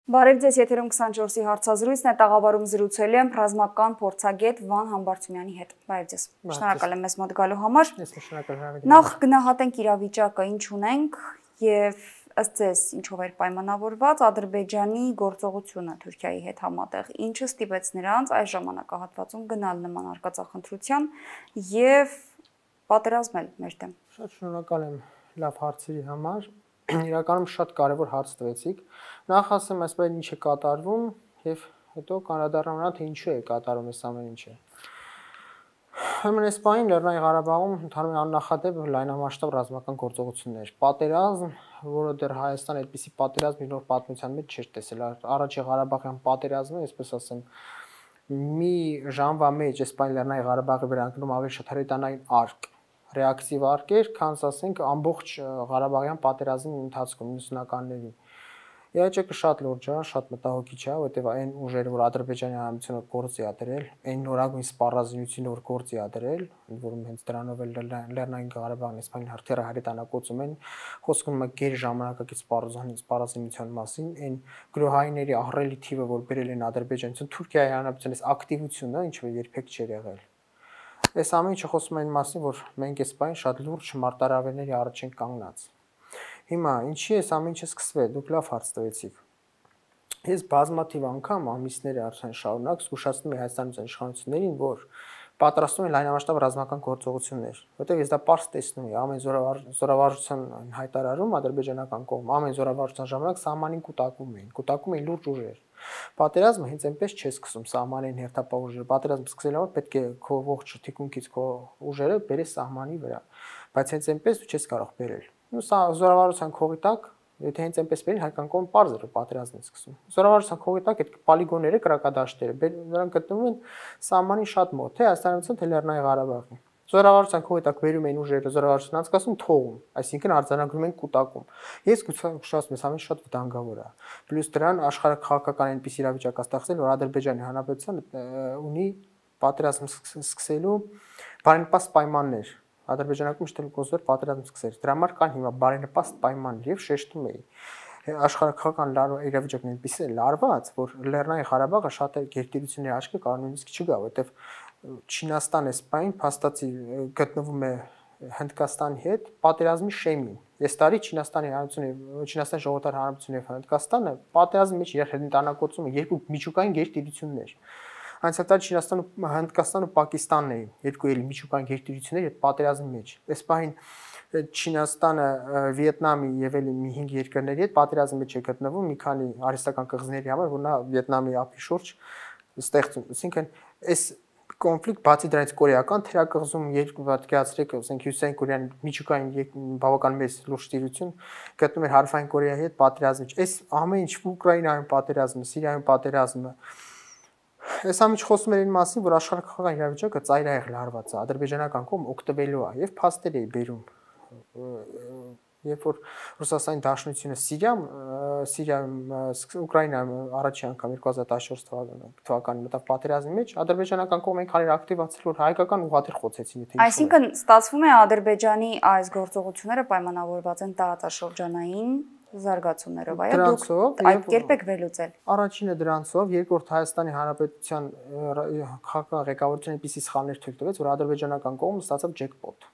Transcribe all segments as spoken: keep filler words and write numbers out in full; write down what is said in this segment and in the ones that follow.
Բարև ձեզ, եթերում քսանչորսի հարցազրույցն է, տաղավարում զրուցել եմ ռազմական փորձագետ Վան Համբարձումյանի հետ։ Բարև ձեզ։ Շնորհակալ եմ մեզ մոտ գալու համար։ Ես շնորհակալ եմ։ Նախ գնահատենք իրավիճակը, ինչ ունենք եւ ըստ ձեզ ինչով էր պայմանավորված Ադրբեջանի գործողությունը Թուրքիայի հետ համատեղ, ինչը ստիպեց նրանց այս ժամանակահատվածում գնալ նման արկածախնդրության եւ պատերազմել մեր դեմ։ Շատ շնորհակալ եմ լավ հարցերի համար։ Իրականում շատ կարևոր հարց տվեցիք։ Նախ ասեմ, այսպես ինչ է կատարվում եւ հետո կանրադառնամ նրան, թե ինչու է կատարում այս ամեն ինչը։ Ուրեմն այս պահին Լեռնային Ղարաբաղում ընդհանուր աննախադեպ լայնամասշտաբ ռազմական գործողություններ, պատերազմ, որը դեռ Հայաստանը այդպիսի պատերազմ իր նոր պատմության մեջ չէր տեսել։ Առաջի Ղարաբաղյան պատերազմը, այսպես ասեմ, մի ժամվա մեջ այս պահին Լեռնային Ղարաբաղի վրա անկնում ավելի շատ հրետանային արկ ռեակտիվ արկեր, քան ասենք ամբողջ Ղարաբաղյան պատերազմի ընթացքում նույնականների։ Իհարկե շատ լուրջ է, շատ մտահոգիչ է, որտեղ այն ուժերը, որ Ադրբեջանի հանրությունը գործի ա դրել, այն նորագույն սպառազինությունը, որ գործի ա դրել, ընդ որում հենց դրանով էլ Լեռնային Ղարաբաղն իսպայն հրթիռը հրետանակոծում են, խոսքում է գեր ժամանակակից սպառազինության մասին, այն գրոհայինների ահռելի թիվը, որ բերել են ադրբեջանցին, Թուրքիայի հանրապետության այս ակտիվությունը, ինչը երբեք չէր եղել։ Այս ամեն ինչը խոսում է այն մասին, որ մենք այս պահին շատ լուրջ մարտահրավերների առաջ ենք կանգնած։ Հիմա ինչի է այս ամեն ինչը սկսվել, դուք լավ հարց տվեցիք։ Ես բազմաթիվ անգամ ամիսների արդեն շարունակ զգուշացնում եմ Հայաստանի իշխանություններին, որ պատրաստում են լայնամասշտաբ ռազմական գործողություններ, որտեղ ես դա պարզ տեսնում եմ, ամեն զորավարժության հայտարարում ադրբեջանական կողմ, ամեն զորավարժության ժամանակ սահմանին կուտակում էին, կուտակում էին լուրջ ուժեր։ Պատերազմը հենց այնպես չէ սկսում սահմանային հերթապահ ուժերը, պատերազմ սկսելու համար պետք է քո ողջ թիկունքից քո ուժերը բերես սահմանի վրա, բայց հենց այնպես դու չես կարող բերել։ Ու սա զորավարժության քողի տակ, եթե հենց այնպես բերել, հայկական կողմը պարզ է պատերազմն է սկսում։ Զորավարժության քողի տակ այդ պոլիգոնները, կրակադաշտերը, նրանք գտնվում են սահմանին շատ մոտ, թե Հայաստանից, թե Լեռնային Ղարաբաղի։ Զորավարժության քողի տակ բերում են ուժերը, զորավարժության անցկացում թողում, այսինքն արձանագրում են կուտակում։ Ես գուցե ամեն շատ վտանգավոր է։ Պլյուս դրան աշխարհաքաղաքական այնպես իրավիճակ է ստեղծել, որ Ադրբեջանի Հանրապետությունը ունի պատերազմ սկսելու բարենպաստ պայմաններ։ Ադրբեջանում միշտ կոզոր պատերազմ սկսել։ Դրա համար կան հիմա բարենպաստ պայմաններ եւ շեշտում էի։ Աշխարհաքաղաքական իրավիճակն այնպես է լարված, որ Լեռնային Ղարաբաղը շատ գերտերությունների աչքի կարող նույնիսկ չգա, որովհետեւ Չինաստանը սպայն փաստացի գտնվում է Հնդկաստանի հետ պատերազմի շեմին։ Այս տարի Չինաստանի հանրությունը, Չինաստանի ժողովրդի հանրապետությունը եւ Հնդկաստանը պատերազմի մեջ իրար հրետանակոծում են երկու միջուկային գերտերություններ։ Անցյալ տարի Չինաստանը, Հնդկաստանը ու Պակիստանն էին երկու էլի միջուկային գերտերություններ այդ պատերազմի մեջ։ Այս պահին Չինաստանը, Վիետնամի եւ էլի մի հինգ երկրների հետ պատերազմի մեջ է գտնվում մի քանի արհեստական կղզիների համար, որ նա Վիետնամի ափի շուրջ ստեղծում։ Այսինքն այս կոնֆլիկտ բացի դրանից կորեական թերակղզում երկու պատկերացրեք, ասենք Հյուսիսային Կորեան միջուկային բավական մեծ լուրջ տիրություն գտնում էր Հարավային Կորեայի հետ պատերազմի մեջ։ Այս ամեն ինչ Ուկրաինայում պատերազմը, Սիրիայում պատերազմը, այս ամեն ինչ խոսում էր այն մասին, որ աշխարհաքաղաքական իրավիճակը ծայրահեղ լարված է, ադրբեջանական կողմը օգտվելու է եւ փաստեր է բերում։ Երբ որ Ռուսաստանի Դաշնությունը Սիրիայում, Սիրիայում, Ուկրաինայում առաջի անգամ երկու հազար տասնչորս թվականին մտավ պատերազմի մեջ, ադրբեջանական կողմը այնքան էր ակտիվացել, որ հայկական ուղղաթիռ խոցեցին, եթե Այսինքն ստացվում է Ադրբեջանի այս գործողությունները պայմանավորված են տարածաշրջանային զարգացումներով, այո, դուք այդ կերպ եք վերլուծել։ Առաջինը դրանցով, երկրորդ Հայաստանի Հանրապետության քաղաքական ղեկավարությունը այնպիսի սխալներ թույլ տվեց, որ ադրբեջանական կողմը ստացավ ջեկպոտ։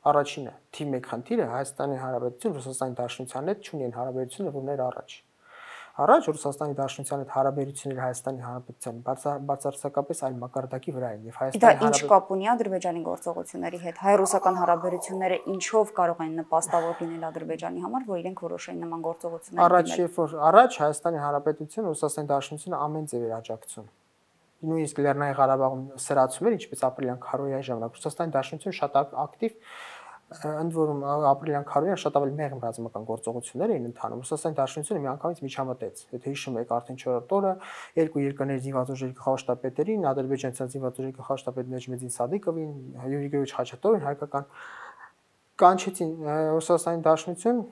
Առաջինը թիվ մեկ խնդիրը Հայաստանի Հանրապետություն Ռուսաստանի Դաշնության հետ չունեն հարաբերություններ, որներ առաջ։ Առաջ Ռուսաստանի Դաշնության հետ հարաբերությունները Հայաստանի Հանրապետության բացարձակապես այլ մակարդակի վրա են եւ Հայաստանի Հանրապետությունը ինչ կապ ունի Ադրբեջանի գործողությունների հետ։ Հայ-ռուսական հարաբերությունները ինչով կարող են նպաստավոր լինել Ադրբեջանի համար, որ իրենք որոշեն նման գործողություններ դիմել։ Առաջ երբ որ առաջ Հայաստանի Հանրապետությունը Ռուսաստանի Դաշնությունը ամեն ձև էր աջակցում։ Նույնիսկ Լեռնային Ղարաբաղում սրացում էր, ինչպես ապրիլյան քարոյայի ժամանակ Ռուսաստանի Դաշնությունը շատ ակտիվ, ընդ որում ապրիլյան քարոյան շատ ավելի մեղմ ռազմական գործողություններ էին ընթանում։ Ռուսաստանի Դաշնությունը միանգամից միջամտեց։ Եթե հիշում եք, արդեն չորրորդ օրը երկու երկրների զինված ուժերի գլխաշտապետերին, ադրբեջանցի զինված ուժերի գլխաշտապետ Նեջմեդին Սադիկովին, Յուրի Գևիչ Խաչատուրովին հայկական կանչեցին Ռուսաստանի Դաշնություն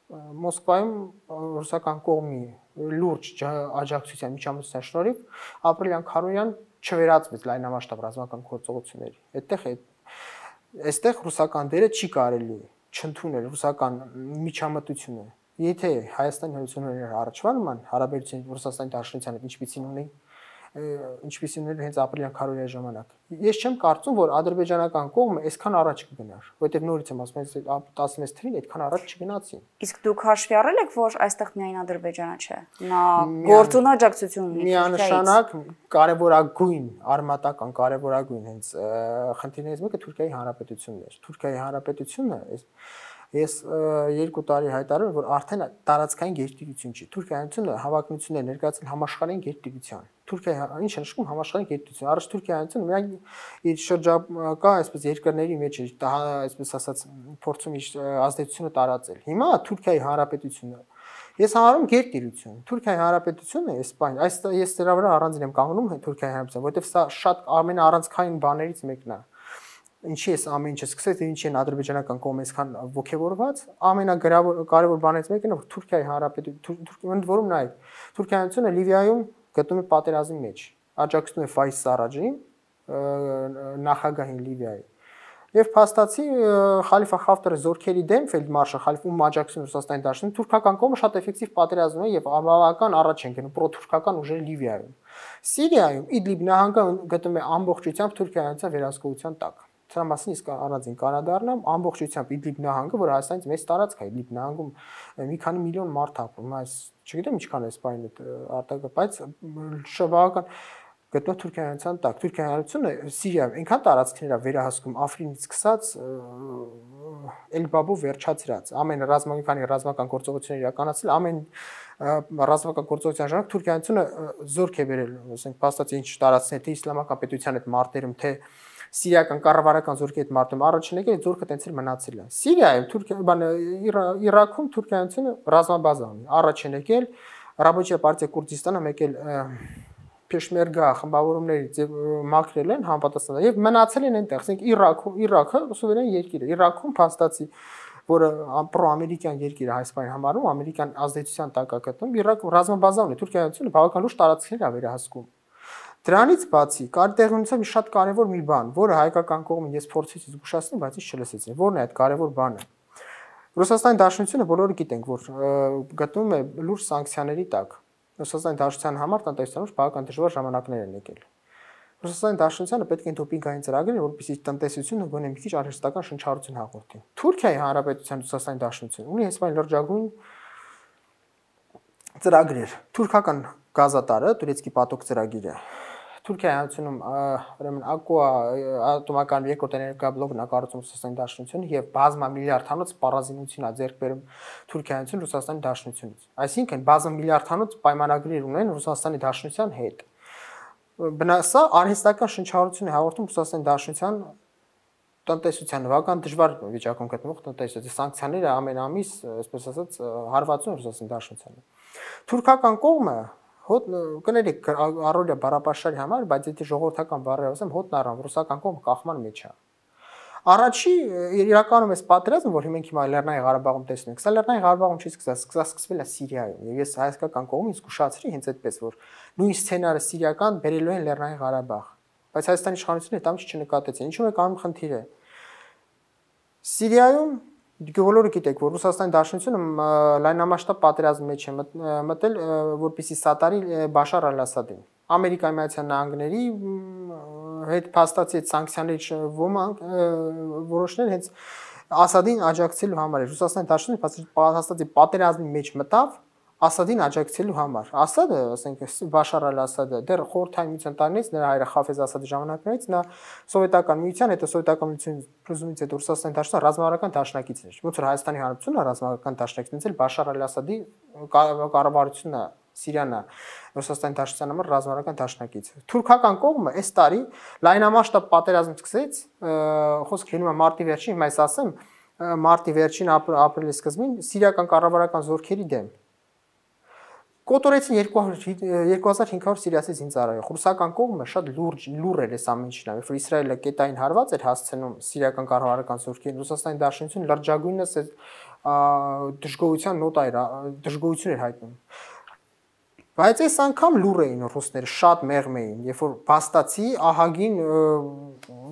Մոսկվայում ռուսական կողմի լուրջ աջակցության միջամտության շնորհիվ ապրիլյան քարոյան չվերածվեց լայնամասշտաբ ռազմական գործողությունների։ Այդտեղ այստեղ ռուսական դերը չի կարելի չընդունել ռուսական միջամտությունը Եթե Հայաստանի Հանրությունների առաջվան հարաբերություն Ռուսաստանի Դաշնության հետ ինչպիսին ունի ինչպիսին ուներ հենց ապրիլյան քարոզիայի ժամանակ։ Ես չեմ կարծում, որ ադրբեջանական կողմը այսքան առաջ կգնար, որովհետև նորից եմ ասում, տասնմեծ թվին այդքան առաջ չգնացին։ Իսկ դուք հաշվի առել եք, որ այստեղ միայն Ադրբեջանը չէ։ Նա գործուն աջակցություն ունի։ Միանշանակ կարևորագույն, արմատական կարևորագույն հենց խնդիրներից մեկը Թուրքիայի Հանրապետությունն էր։ Թուրքիայի Հանրապետությունը Ես երկու տարի հայտարարում եմ, որ արդեն տարածքային գերտիրություն չի։ Թուրքիայինությունը հավակնություններ ներկայացել համաշխարհային գերտիրության։ Թուրքիայի ինչ է նշանակում համաշխարհային գերտիրություն։ Առաջ Թուրքիայինությունը միայն իր շրջակա այսպես երկրների մեջ է, այսպես ասած, փորձում իր ազդեցությունը տարածել։ Հիմա Թուրքիայի Հանրապետությունը ես համարում գերտիրություն։ Թուրքիայի Հանրապետությունը Իսպանիա, այս ես դրա վրա առանձին եմ կանգնում Թուրքիայի Հանրապետությունը, որովհետև սա շատ ամենաառանցքային բաներից մեկն է։ Ինչի էս ամեն ինչը սկսեց եւ ինչի են ադրբեջանական կողմը այսքան ողջևորված, ամենագրավոր կարևոր բաներից մեկն է, որ Թուրքիայի Հանրապետությունը, որում նայեք, Թուրքիայինությունը Լիվիայում գտնում է պատերազմի մեջ, աջակցում է Ֆայս Սարաջին, նախագահին Լիվիայի։ Եվ փաստացի Խալիֆա Խաֆտարի զորքերի դեմ ֆելդմարշալ Խալիֆում աջակցում Ռուսաստանի Դաշնություն, թուրքական կողմը շատ էֆեկտիվ պատերազմ է եւ ամբողջական առաջ են գնում պրոթուրքական ուժերը Լիվիայում։ Սիրիայում Իդլիբ նահանգը գտնում է ամբողջությամբ Թուրքիայինության վերահսկողության տակ։ Սրա մասին իսկ առանձին կանադառնամ ամբողջությամբ Իդլիբ նահանգը, որ Հայաստանից մեծ տարածք է, Իդլիբ նահանգում մի քանի միլիոն մարդ ապրում, այս չգիտեմ ինչքան է սպայն արտակը, բայց շաբական գտնվում Թուրքիայինության տակ։ Թուրքիայի Հանրությունը Սիրիայում այնքան տարածքներ է վերահսկում Աֆրինից սկսած Էլբաբով վերջացրած, ամեն ռազմական ռազմական գործողություններ իրականացել, ամեն ռազմական գործողության ժամանակ Թուրքիայինությունը զորք է բերել, ասենք, փաստացի ինչ տարածքներ թե իսլամական պետության հետ մարտերում, թե Սիրիական կառավարական զորքի հետ մարտում առաջին եկել զորքը տենց էլ մնացել է։ Սիրիայում Թուրքիա, բան Իրաքում Թուրքիայինությունը ռազմաբազա ունի։ Առաջին եկել Ռաբոչիա պարտիա Քուրդիստանը եկել Փեշմերգա խմբավորումներից մաքրել են համապատասխան եւ մնացել են այնտեղ, ասենք Իրաքում, Իրաքը սուվերեն երկիր է։ Իրաքում փաստացի որը պրոամերիկյան երկիր է Հայաստանի համարում, ամերիկյան ազդեցության տակ է գտնվում, Իրաքում ռազմաբազա ունի, Թուրքիայինությունը բավական լուրջ տարածքներ է վերահսկում։ Դրանից բացի կար տեղի ունեցավ մի շատ կարևոր մի բան, որը հայկական կողմը ես փորձեցի զգուշացնել, բայց ինձ չլսեցին։ Որն է այդ կարևոր բանը։ Ռուսաստանի Դաշնությունը բոլորը գիտենք, որ գտնվում է լուրջ սանկցիաների տակ։ Ռուսաստանի Դաշնության համար տնտեսության բավական դժվար ժամանակներ են եկել։ Ռուսաստանի Դաշնությանը պետք է դոպինգային ծրագիր, որպեսզի տնտեսությունը գոնե մի քիչ արհեստական շնչառություն հաղորդի։ Թուրքիայի Հանրապետության Ռուսաստանի Դաշնությունը ունի հենց այն լրջագույն ծրագրեր։ Թուրքական գազատարը, Турецկի պատոկ ծրագիրը։ Թուրքիայի Հանրությունում ուրեմն Ակուա ատոմական երկրորդ էներգաբլոկն է կառուցում Ռուսաստանի Դաշնությունը եւ բազմա միլիարդ հանոց պարազինություն է ձեռք բերում Թուրքիայինություն Ռուսաստանի Դաշնությունից։ Այսինքն բազմա միլիարդ հանոց պայմանագրեր ունեն Ռուսաստանի Դաշնության հետ։ Բնասա արհեստական շնչառություն է հաղորդում Ռուսաստանի Դաշնության տնտեսությանը, բավական դժվար վիճակում գտնվող տնտեսության սանկցիաները ամեն ամիս, այսպես ասած, հարվածում են Ռուսաստանի Դաշնությանը։ Թուրքական կողմը հոտ կներեք առօրյա բառապաշարի համար, բայց եթե ժողովրդական բառերով ասեմ, հոտն առան ռուսական կողմը կախման մեջ է։ Առաջի իրականում էս պատերազմը, որ մենք հիմա Լեռնային Ղարաբաղում տեսնում ենք, սա Լեռնային Ղարաբաղում չի սկսած, սկսած սկսվել է Սիրիայում, եւ ես հայկական կողմից զգուշացրի հենց այդպես, որ նույն սցենարը սիրիական բերելու են Լեռնային Ղարաբաղ, բայց Հայաստանի իշխանությունները դա ինչ չնկատեցին։ Ինչու՞ է կանում խնդիրը։ Սիրիայում բոլորը գիտեք, որ Ռուսաստանի Դաշնությունը լայնամասշտաբ պատերազմի մեջ է մտել, որպեսզի սատարի Բաշար Ալ-Ասադին։ Ամերիկայի Միացյալ Նահանգների հետ փաստացի այդ սանկցիաների ոմանք որոշներ հենց Ասադին աջակցելու համար է։ Ռուսաստանի Դաշնությունը փաստացի պատերազմի մեջ մտավ Ասադին աջակցելու համար։ Ասադը, ասենք, Բաշար Ալ-Ասադը դեռ խորհրդային միության տարիներից նրա հայրը Խաֆեզ Ասադի ժամանակներից նա սովետական միության, հետո սովետական միության փլուզումից հետո Ռուսաստանի Դաշնության ռազմավարական դաշնակիցն էր։ Ոնց որ Հայաստանի Հանրապետությունը ռազմավարական դաշնակիցն էր Բաշար Ալ-Ասադի կառավարությունը Սիրիան Ռուսաստանի Դաշնության համար ռազմավարական դաշնակից։ Թուրքական կողմը այս տարի լայնամասշտաբ պատերազմ սկսեց, խոսքը գնում է մարտի վերջին, հիմա ես ասեմ, մարտի վերջին ապրիլի սկզբին սիրիական կառավարական զորքերի դեմ կոտորեցին երկու հազար հինգ հարյուր սիրիացի զինծառայող։ Ռուսական կողմը շատ լուրջ լուր էր այս ամեն ինչին, որ Իսրայելը կետային հարված էր հասցնում սիրիական կառավարական զորքերին, Ռուսաստանի Դաշնությունը լրջագույնս դժգոհության նոտա էր, դժգոհություն էր հայտնում։ Բայց այս անգամ լուր էին ռուսները, շատ մեղմ էին, երբ որ փաստացի ահագին,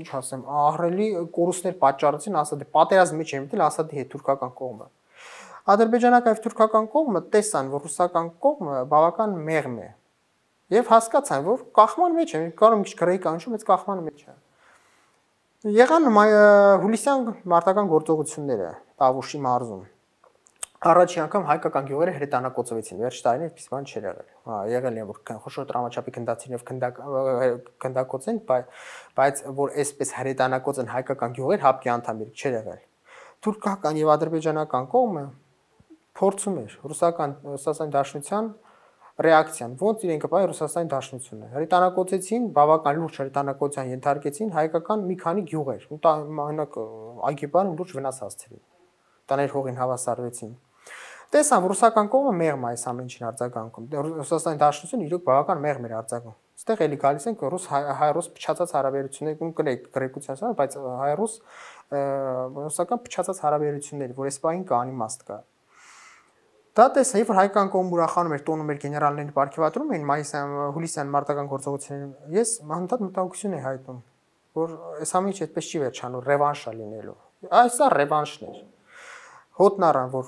ինչ ասեմ, ահռելի կորուստներ պատճառեցին Ասադի, պատերազմի մեջ էին մտել Ասադի հետ թուրքական կողմը։ Ադրբեջանական եւ թուրքական կողմը տեսան, որ ռուսական կողմը բավական մեղմ է։ Եվ հասկացան, որ կախման մեջ է, կարող մի քիչ գրեի կանչում, այդ կախման մեջ է։ Եղան հուլիսյան մարտական գործողությունները Տավուշի մարզում։ Առաջին անգամ հայկական գյուղերը հրետանակոծվեցին, վերջ տարիներ այդպես բան չէր եղել։ Հա, եղել են որ խոշոր տրամաչափի գնդացիներով գնդակոծեն, բայց որ այսպես հրետանակոծեն հայկական գյուղեր հապկի անդամներ չէր եղել։ Թուրքական եւ ադրբեջանական կողմը փորձում էր ռուսական Ռուսաստանի Դաշնության ռեակցիան, ոնց իրենք կպայ Ռուսաստանի Դաշնությունը։ Հրետանակոծեցին, բավական լուրջ հրետանակոծության ենթարկեցին հայկական մի քանի գյուղեր, օրինակ Այգիպան լուրջ վնաս հասցրին։ Տաներ հողին հավասարվեցին։ Տեսան ռուսական կողմը մեղմ այս ամեն ինչին արձագանքում։ Ռուսաստանի Դաշնությունը իրոք բավական մեղմ էր արձագանքում։ Այստեղ էլի գալիս են ռուս հայ-ռուս փչացած հարաբերություններ, ու կրեք գրեկության սա, բայց հայ-ռուս ռուսական փչացած հարաբերություններ, որ այս պահին կա անիմաստ կա։ Դա տեսա, որ հայկական կողմը ուրախանում էր, տոնում էր գեներալներին պարգևատրում էին մայիսյան հուլիսյան մարտական գործողություններին։ Ես հանդարտ մտահոգություն եմ հայտնում, որ այս ամեն ինչը այդպես չի վերջանում, ռևանշ է լինելու։ Այս է ռևանշն էր։ Հոտն առան, որ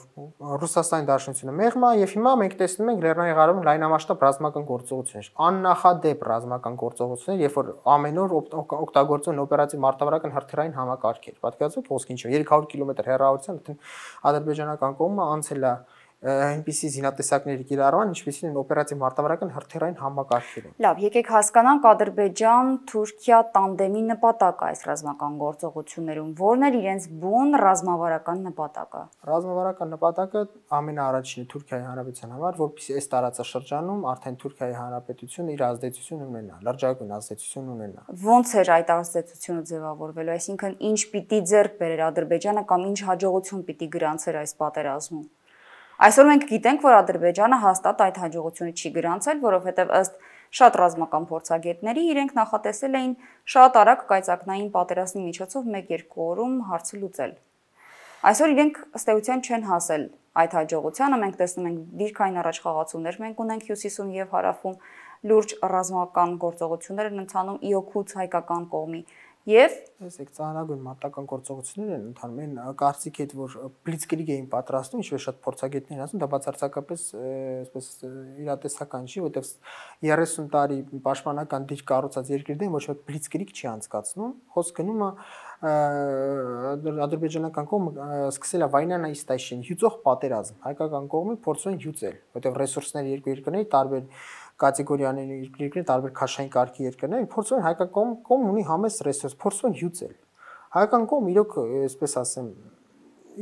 Ռուսաստանի Դաշնությունը մեղմ է, եւ հիմա մենք տեսնում ենք Լեռնային Ղարաբաղում լայնամասշտաբ ռազմական գործողություններ, աննախադեպ ռազմական գործողություններ, երբ որ ամեն օր օգտագործվում օպերատիվ մարտավարական հրթիռային համակարգեր։ Պատկերացրեք ոսկի ինչ երեք հարյուր կիլոմետր հեռավորության ադրբեջանական կողմը անցել է այնպիսի զինատեսակների կիրառման, ինչպիսին են օպերատիվ մարտավարական հրթիռային համակարգերը։ Լավ, եկեք հասկանանք Ադրբեջան-Թուրքիա տանդեմի նպատակը այս ռազմական գործողություններում, որն էր իրենց բուն ռազմավարական նպատակը։ Ռազմավարական նպատակը ամենաառաջինը Թուրքիայի Հանրապետության համար, որպեսզի այս տարածաշրջանում արդեն Թուրքիայի Հանրապետությունը իր ազդեցություն ունենա, լրջագույն ազդեցություն ունենա։ Ոնց էր այդ ազդեցությունը ձևավորվելու, այսինքն ինչ պիտի ձեռք բերեր Ադրբեջանը կամ ինչ հաջողություն պիտի գրանցեր այս պատերազմում։ Այսօր մենք գիտենք, որ Ադրբեջանը հաստատ այդ հաջողությունը չի գրանցել, որովհետև ըստ շատ ռազմական փորձագետների իրենք նախատեսել էին շատ արագ կայծակնային պատերազմի միջոցով մեկ-երկու օրում հարցը լուծել։ Այսօր իրենք ըստ էության չեն հասել այդ հաջողությանը, մենք տեսնում ենք դիրքային առաջխաղացումներ, մենք ունենք հյուսիսում եւ հարավում լուրջ ռազմական գործողություններ են ընթանում իօքուց հայկական կողմի։ Եվ տեսեք, ծանրագույն մարտական գործողություններ են ընթանում, այն կարծիք հետ, որ բլիցկրիգ էին պատրաստում, ինչպես շատ փորձագետներ ասում, դա բացարձակապես այսպես իրատեսական չի, որտեղ երեսուն տարի պաշտպանական դիրք կառուցած երկրի դեմ ոչ ոք բլիցկրիգ չի անցկացնում, խոսք գնում է ադրբեջանական կողմը սկսել է վայնանա իստայշին, հյուծող պատերազմ, հայկական կողմը փորձում են հյուծել, որտեղ ռեսուրսները երկու երկրների տարբեր կատեգորիաների երկրներ, տարբեր քաշային կարգի երկրներ, փորձում են հայկական կողմ, կողմ ունի համեստ ռեսուրս, փորձում են հյուծել։ Հայկական կողմ իրոք, այսպես ասեմ,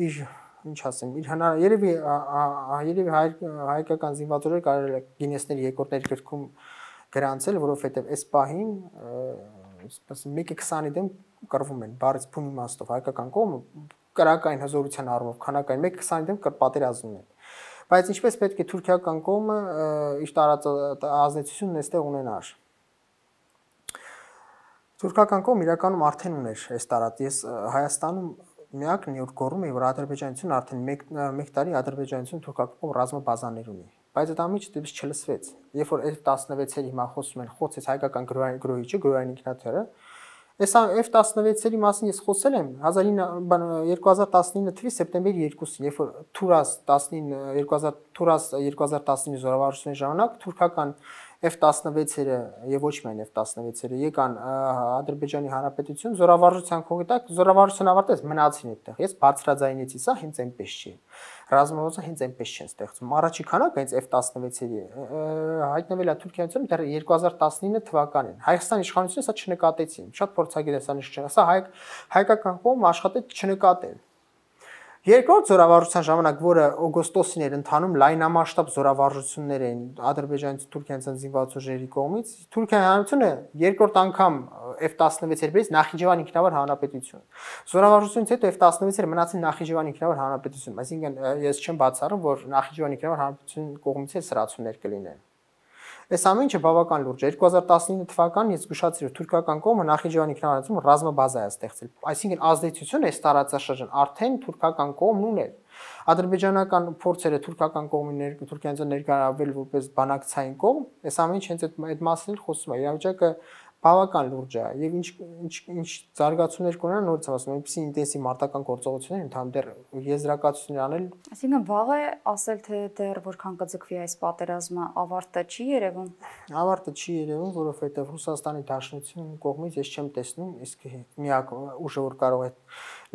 իր ինչ ասեմ, իր հնար երևի երևի հայկական զինվորները կարելի է գինեսների երկրների գրքում գրանցել, որովհետև այս պահին, այսպես մեկը քսանի դեմ կռվում են, բառից բուն իմաստով հայկական կողմը կրակային հզորության առումով, քանակային մեկը քսանի դեմ կրպատերազում են։ Բայց ինչպես պետք է թուրքիական կողմը իր ազդեցությունն այստեղ ունենար։ Թուրքական կողմը իրականում արդեն ուներ այս տարածք։ Ես Հայաստանում միակն որ գոռում եմ, որ ադրբեջանությունը արդեն մեկ տարի ադրբեջանությունը թուրքական կողմ ռազմաբազաներ ունի։ Բայց այդ ամիջը դեպս չլսվեց։ Երբ որ F տասնվեցերի հիմա խոսում են, խոցեց հայկական գրոհիչը, գրոհային ինքնաթիռը, այս F տասնվեցերի մասին ես խոսել եմ երկու հազար տասնինը թվականի սեպտեմբերի երկուսին, երբ որ Թուրաս տասնինը երկու հազար Թուրաս երկու հազար տասնինը զորավարժությունների ժամանակ թուրքական F տասնվեցերը եւ ոչ միայն F տասնվեցերը եկան Ադրբեջանի Հանրապետություն զորավարժության քողի տակ, զորավարժությունը ավարտեց, մնացին այդտեղ։ Ես բարձրաձայնեցի, սա հենց այնպես չի։ Ռազմավարությունը հենց այնպես չեն ստեղծում։ Առաջի քանակը հենց F տասնվեցերի հայտնվել է Թուրքիայում դեռ երկու հազար տասնինը թվականին։ Հայաստանի իշխանությունը սա չնկատեցին։ Շատ փորձագետ է սա նշել։ Սա հայ հայկական կողմը աշխատեց չնկատել։ Երկրորդ զորավարժության ժամանակ, որը օգոստոսին էր ընթանում լայնամասշտաբ զորավարժություններ էին Ադրբեջանից Թուրքիայից զինված ուժերի կողմից, Թուրքիայի հանրությունը երկրորդ անգամ F տասնվեցեր բերեց Նախիջևան ինքնավար հանրապետություն։ Զորավարժությունից հետո F տասնվեցերը մնացին Նախիջևան ինքնավար հանրապետություն, այսինքն ես չեմ բացառում, որ Նախիջևան ինքնավար հանրապետություն կողմից էլ սրացումներ կլինեն։ Այս ամեն ինչը բավական լուրջ է։ երկու հազար տասնինը թվականին ես զգուշացրի, որ թուրքական կողմը Նախիջևանի ինքնավարություն ռազմաբազա է ստեղծել։ Այսինքն ազդեցությունը այս տարածաշրջան արդեն թուրքական կողմն ուներ։ Ադրբեջանական փորձերը թուրքական կողմի Թուրքիայից ներկայացվել որպես բանակցային կողմ, այս ամեն ինչ հենց այդ այդ մասին խոսում է։ Իրավիճակը բավական լուրջ է եւ ինչ ինչ ինչ զարգացումներ կունենան նորից ասում եմ, այնպեսի ինտենսիվ մարտական գործողություններ ընդհանուր դեռ եզրակացություններ անել։ Այսինքն վաղ է ասել, թե դեռ որքան կձգվի այս պատերազմը, ավարտը չի երևում։ Ավարտը չի երևում, որովհետեւ Ռուսաստանի Դաշնության կողմից ես չեմ տեսնում, իսկ միակ ուժը որ կարող է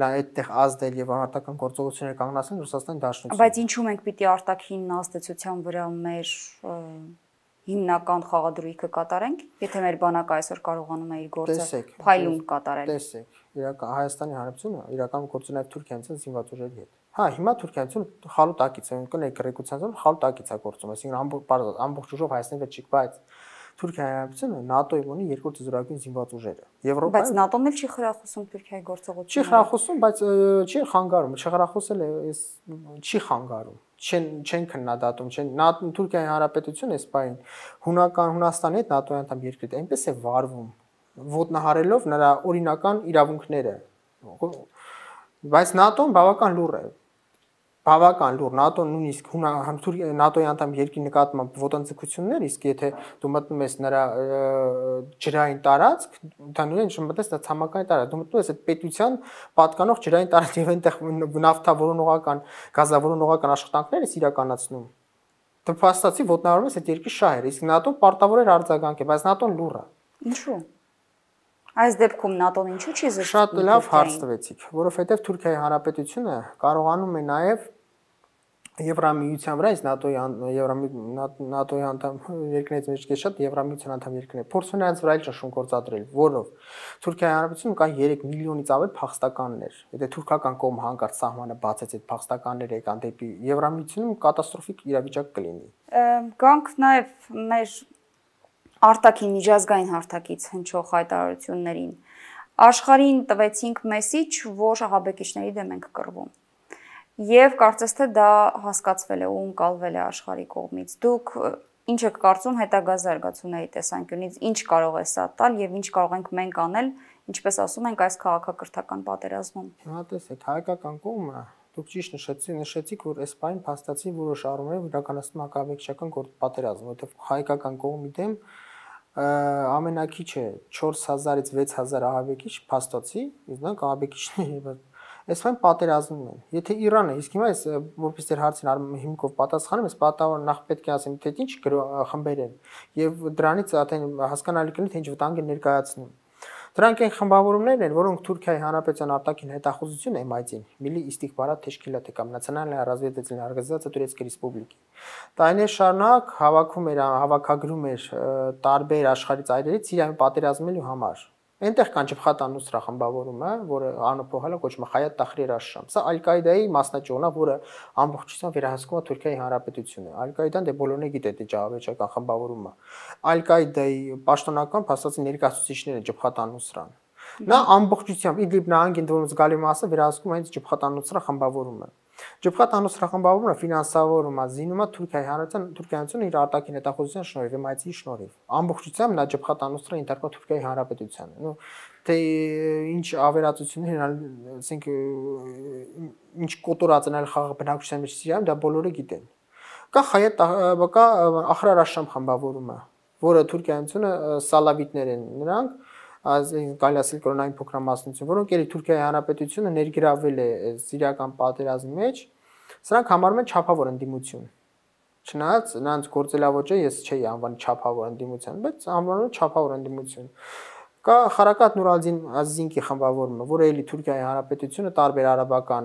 այդտեղ ազդել եւ մարտական գործողություններ կանգնացնել Ռուսաստանի Դաշնությունը։ Բայց ինչու մենք պիտի արտաքին ազդեցության վրա մեր հիմնական խաղադրույքը կատարենք, եթե մեր բանակը այսօր կարողանում է իր գործը փայլուն կատարել։ Տեսեք, իրական Հայաստանի Հանրապետությունը իրական գործը նաև Թուրքիայից զինված ուժերի հետ։ Հա, հիմա Թուրքիայից խալուտակից է, կներ գրեկուցիան խալուտակից է գործում, այսինքն ամբողջ ամբողջ ուժով Հայաստանի վրա չի, բայց Թուրքիայի Հանրապետությունը ՆԱՏՕ-ի ունի երկրորդ զորագույն զինված ուժերը։ Եվրոպայի Բայց ՆԱՏՕ-ն էլ չի խրախուսում Թուրքիայի գործողությունները։ Չի խրախուսում, բայց չի խանգարում, չխրախուսել է, այս չի խանգարում։ Չեն չեն քննադատում, չեն Թուրքիայի Հանրապետությունը այս բային հունական Հունաստանի հետ ՆԱՏՕ-ի անդամ երկրի այնպես է վարվում, ոտնահարելով նրա օրինական իրավունքները։ Բայց ՆԱՏՕ-ն բավական լուր է։ Բավական լուր ՆԱՏՕ-ն նույնիսկ ՆԱՏՕ-ի անդամ երկրի նկատմամբ ոտնձգություններ, իսկ եթե դու մտնում ես նրա ջրային տարածք, ընդհանրապես չմտնես նա ցամաքային տարածք, դու մտնում ես այդ պետության պատկանող ջրային տարածք եւ այնտեղ նավթավորողական, գազավորողական աշխատանքներ ես իրականացնում։ Դու փաստացի ոտնահարում ես այդ երկրի շահերը, իսկ ՆԱՏՕ-ն պարտավոր էր արձագանքել, բայց ՆԱՏՕ-ն լուր է։ Ինչու՞։ Այս դեպքում ՆԱՏՕ-ն ինչու՞ չի զսպում։ Շատ լավ հարց տվեցիք, որովհետև Թուրքիայի Հանրապետությունը կարողանում է նաև Եվրամիության վրա, այս ՆԱՏՕ-ի ՆԱՏՕ-ի անդամ երկրներից մեկը շատ Եվրամիության անդամ երկրներ փորձում են նրանց վրա էլ ճնշում գործադրել, որով Թուրքիայի Հանրապետությունում կան երեք միլիոնից ավել փախստականներ։ Եթե թուրքական կողմը հանկարծ սահմանը բացեց, այդ փախստականները եկան դեպի Եվրամիությունում կատաստրոֆիկ իրավիճակ կլինի։ Գանք նաև մեր արտաքին միջազգային հարթակից հնչող հայտարարություններին աշխարհին տվեցինք մեսիջ, որ ահաբեկիչների դեմ ենք կռվում։ Եվ կարծես թե դա հասկացվել է ու ընկալվել է աշխարհի կողմից։ Դուք ինչ եք կարծում հետագա զարգացումների տեսանկյունից, ինչ կարող է սա տալ եւ ինչ կարող ենք մենք անել, ինչպես ասում ենք, այս քաղաքակրթական պատերազմում։ Հիմա տեսեք, հայկական կողմը դուք ճիշտ նշեցիք, նշեցիք, որ այս բանը փաստացի որոշ առումով իրականացնում հակաբեկչական պատերազմ, որովհետեւ հայկական կողմի դեմ ամենակիչը չորս հազարից վեց հազար ահաբեկիչ փաստացի, իրանք ահաբեկիչներ այս բան պատերազմում են։ Եթե Իրանը, իսկ հիմա այս որպես դեր հարցին հիմքով պատասխանում, ես պատահորեն նախ պետք է ասեմ, թե ինչ խմբեր են եւ դրանից արդեն հասկանալի կլինի, թե ինչ վտանգ են ներկայացնում։ Դրանք այն խմբավորումներն են, որոնք Թուրքիայի Հանրապետության արտաքին հետախուզություն эм ай դ-ին, Milli Istihbarat Teşkilatı կամ Naționalная разведывательная организация Турецкой Республики։ Տարիներ շարունակ հավաքում էր, հավաքագրում էր տարբեր աշխարհի ծայրերից Սիրիայում պատերազմելու համար։ Այնտեղ կան Ջեփխատ ան-Նուսրա խմբավորումը, որը անփոխել է կոչվում է Հայաթ Տախրիր աշ-Շամ։ Սա Ալ-Կաիդայի մասնաճյուղն է, որը ամբողջությամբ վերահսկում է Թուրքիայի Հանրապետությունը։ Ալ-Կաիդան դե բոլորն է գիտե, դե ջահավեճական խմբավորումը։ Ալ-Կաիդայի պաշտոնական փաստացի ներկայացուցիչները Ջեփխատ ան-Նուսրան։ Նա ամբողջությամբ Իդլիբ նահանգին դուրս զգալի մասը վերահսկում է հենց Ջեփխատ ան-Նուսրա խմբավորումը։ Ջեփխատ ան-Նուսրա խմբավորումը ֆինանսավորում է, զինում է Թուրքիայի Հանրապետության Թուրքիայից իր արտաքին հետախուզության շնորհիվ, էմ ай դ-ի շնորհիվ։ Ամբողջությամբ նա Ջեփխատ ան-Նուսրա ինտերկա Թուրքիայի Հանրապետությանը։ Նու թե ինչ ավերածություններ, ասենք ինչ կոտորած են այլ խաղաղ բնակչության մեջ Սիրիայում, դա բոլորը գիտեն։ Կա Հայաթ կա Ախրար աշ-Շամ խմբավորումը, որը Թուրքիայինցունը սալավիտներ են նրանք, կարելի ասել կրոնային փոքրամասնություն, որոնք էլի Թուրքիայի Հանրապետությունը ներգրավել է սիրիական պատերազմի մեջ, սրանք համարում են չափավոր ընդդիմություն։ Չնայած նրանց գործելավոճը ես չէի անվանի չափավոր ընդդիմության, բայց անվանում եմ չափավոր ընդդիմություն։ Կա Խարակատ Նուրալդին Ազիզինկի խմբավորումը, որը էլի Թուրքիայի Հանրապետությունը տարբեր արաբական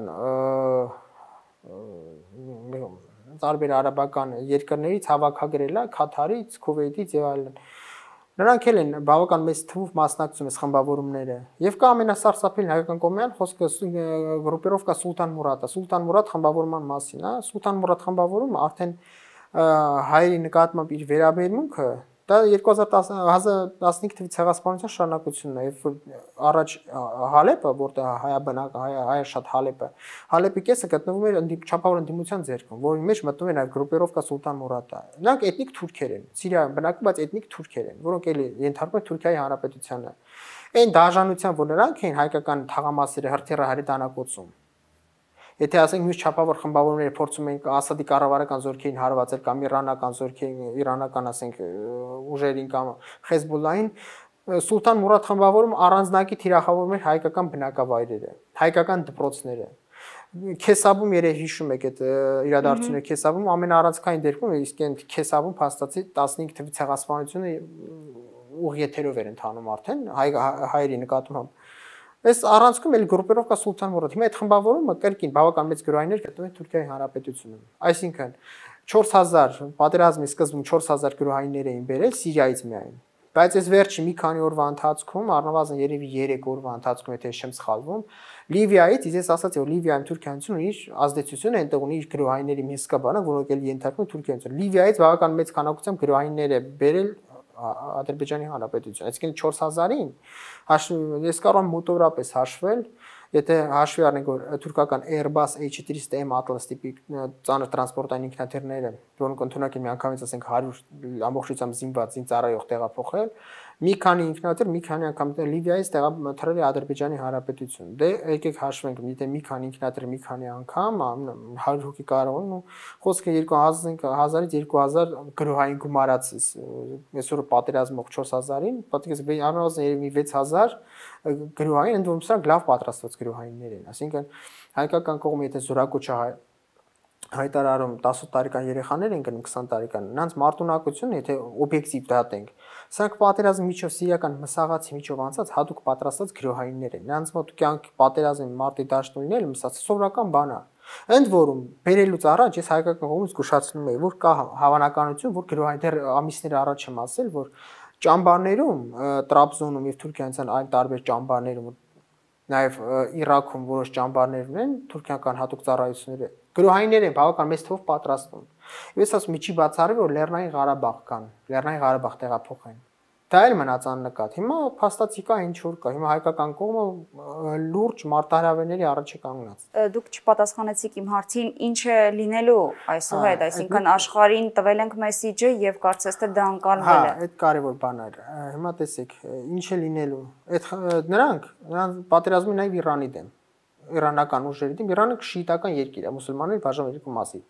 տարբեր արաբական երկրներից հավաքագրել է, Քաթարից, Քուվեյթից եւ այլն։ Նրանք էլ են բավական մեծ թվով մասնակցում այս խմբավորումները։ Եվ կա ամենասարսափելին հայկական կողմյան խոսքը գրուպիրովկա Սուլտան Մուրադը, Սուլտան Մուրադ խմբավորման մասին, հա, Սուլտան Մուրադ խմբավորումը արդեն հայերի նկատմամբ իր վերաբերմունքը դա երկու հազար տասնհինգ թվականին ցեղասպանության շարունակությունն է, երբ առաջ Հալեպը, որտեղ հայաբնակ հայ շատ Հալեպը, Հալեպի կեսը գտնվում էր չափավոր ընդդիմության ձեռքում, որի մեջ մտնում էր նաև գրուպիրովկա Սուլտան Մուրադը։ Նրանք էթնիկ թուրքեր են, Սիրիայում բնակվում, բայց էթնիկ թուրքեր են, որոնք էլի ենթարկվում են Թուրքիայի Հանրապետությանը։ Այն դաժանության, որ նրանք էին հայկական թաղամասերը հրթիռը հրետանակոցում։ Եթե ասենք մյուս չափավոր խմբավորումները փորձում են Ասադի կառավարական զորքերին հարվածել կամ իրանական զորքերին, իրանական ասենք ուժերին կամ Հեզբոլլահին, Սուլտան Մուրադ խմբավորում առանձնակի թիրախավորում էր հայկական բնակավայրերը, հայկական դպրոցները։ Քեսաբում երեք հիշում եք այդ իրադարձությունը Քեսաբում ամենաառանցքային դեպքում իսկ այն Քեսաբում փաստացի տասնհինգ թվի ցեղասպանությունը ուղ եթերով էր ընթանում արդեն հայերի նկատմամբ։ Այս առանցքում էլ գրուպերովկա Սուլտան Մուրադ։ Հիմա այդ խմբավորումը կրկին բավական մեծ գրոհայիններ գտնվում են Թուրքիայի Հանրապետությունում։ Այսինքն չորս հազար պատերազմի սկզբում չորս հազար գրոհայիններ էին բերել Սիրիայից միայն։ Բայց այս վերջի մի քանի օրվա ընթացքում, առնվազն երևի երեք օրվա ընթացքում, եթե չեմ սխալվում, Լիվիայից, ես ասացի, որ Լիվիայում Թուրքիայում իր ազդեցությունը այնտեղ ունի իր գրոհայինների մի հսկա բանակ, որոնք էլ ենթարկվում Թուրքիայում։ Լիվիայից բավական մեծ քանակությամբ գրոհայիններ է բերել Ադրբեջանի Հանրապետություն։ Այսինքն չորս հազարին ես կարող եմ մոտավորապես հաշվել, եթե հաշվի առնենք, որ թուրքական Airbus A four hundred M Atlas տիպի ծանր տրանսպորտային ինքնաթիռները, որոնք ընդունակ են միանգամից ասենք հարյուր ամբողջությամբ զինված զինծառայող տեղափոխել, մի քանի ինքնաթիռ, մի քանի անգամ Լիվիայից տեղափոխել է Ադրբեջանի Հանրապետություն։ Դե եկեք հաշվենք, եթե մի քանի ինքնաթիռ մի քանի անգամ հարյուր հոգի կարող են, ու խոսքը երկու հազարից երկու հազար գրոհային գումարած այսօր պատերազմող չորս հազարին, պատկերացրեք առնվազն երևի վեց հազար գրոհային, ընդ որում սրանք լավ պատրաստված գրոհայիններ են, այսինքն հայկական կողմը եթե զորակոչը հայտարարում տասը տարեկան երեխաներ են գնում քսան տարեկան, նրանց մարտունակությունը, եթե օբյեկտիվ դատենք, սրանք պատերազմի միջով սիրիական մսաղացի միջով անցած հատուկ պատրաստած գրոհայիններ են։ Նրանց մոտ կյանք պատերազմի մարտի դաշտույնները մսած սովորական բան է։ Ընդ որում, բերելուց առաջ ես հայկական կողմից զգուշացնում եմ, որ կա հավանականություն, որ գրոհային դեռ ամիսներ առաջ եմ ասել, որ ճամբարներում, Տրաբզոնում եւ Թուրքիայից այլ տարբեր ճամբարներում, նաեւ Իրաքում որոշ ճամբարներ ունեն թուրքական հատուկ ծառայությունները գրոհայիններ են բավական մեծ թվով պատրաստվում։ Ես ասում եմ, չի բացառվի, որ Լեռնային Ղարաբաղ կան, Լեռնային Ղարաբաղ տեղափոխեն։ Դա էլ մնաց աննկատ։ Հիմա փաստացի կա ինչ որ կա։ Հիմա հայկական կողմը լուրջ մարտահրավերների առաջ է կանգնած։ Դուք չպատասխանեցիք իմ հարցին, ինչ է լինելու այսուհետ, այսինքն աշխարհին տվել ենք մեսիջը եւ կարծես թե դա անցալվել է։ Հա, այդ կարևոր բան է։ Հիմա տեսեք, ինչ է լինելու։ Այդ նրանք, նրանք պատերազմում են նաեւ Իրանի դեմ։ Իրանական ուժերի դեմ, Իրանը շիիտական երկիր է, մուսուլմանների բաժանված երկու մասի։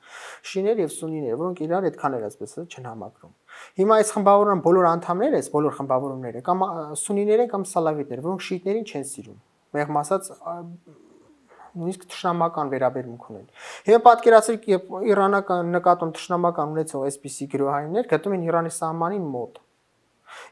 Շիիներ եւ սունիներ, որոնք իրար այդքան էլ այսպես չեն համակրում։ Հիմա այս խմբավորման բոլոր անդամները, այս բոլոր խմբավորումները կամ սունիներ են կամ սալավիտներ, որոնք շիիտներին չեն սիրում։ Մեղմ ասած նույնիսկ թշնամական վերաբերմունք ունեն։ Հիմա պատկերացրեք, երբ իրանական նկատում թշնամական ունեցող այսպիսի գրոհայիններ գտնում են Իրանի սահմանին մոտ։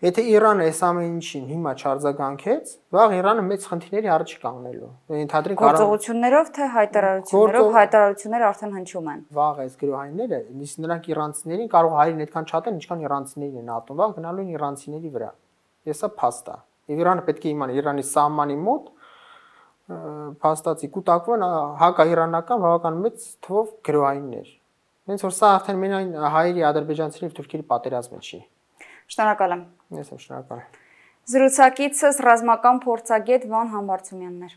Եթե Իրանը այս ամեն ինչին հիմա չարձագանքեց, վաղ Իրանը մեծ խնդիրների առաջ կանգնելու։ Ենթադրենք գործողություններով թե հայտարարություններով, հայտարարությունները արդեն հնչում են։ Վաղ այս գրոհայինները, իսկ նրանք իրանցիներին կարող հայերին այդքան չատեն, ինչքան իրանցիներին են ատում, վաղ գնալու են իրանցիների վրա։ Եսա փաստ է։ Եվ Իրանը պետք է իմանա Իրանի սահմանի մոտ փաստացի կուտակվեն հակաիրանական բավական մեծ թվով գրոհայիններ։ Հենց որ սա արդեն մենայն հայերի, ադրբեջանցիների եւ թուրքերի պատերազմը չի։ Շնորհակալ եմ։ Ես եմ շնորհակալ։ Զրուցակիցս ռազմական փորձագետ Վան Համբարձումյանն էր։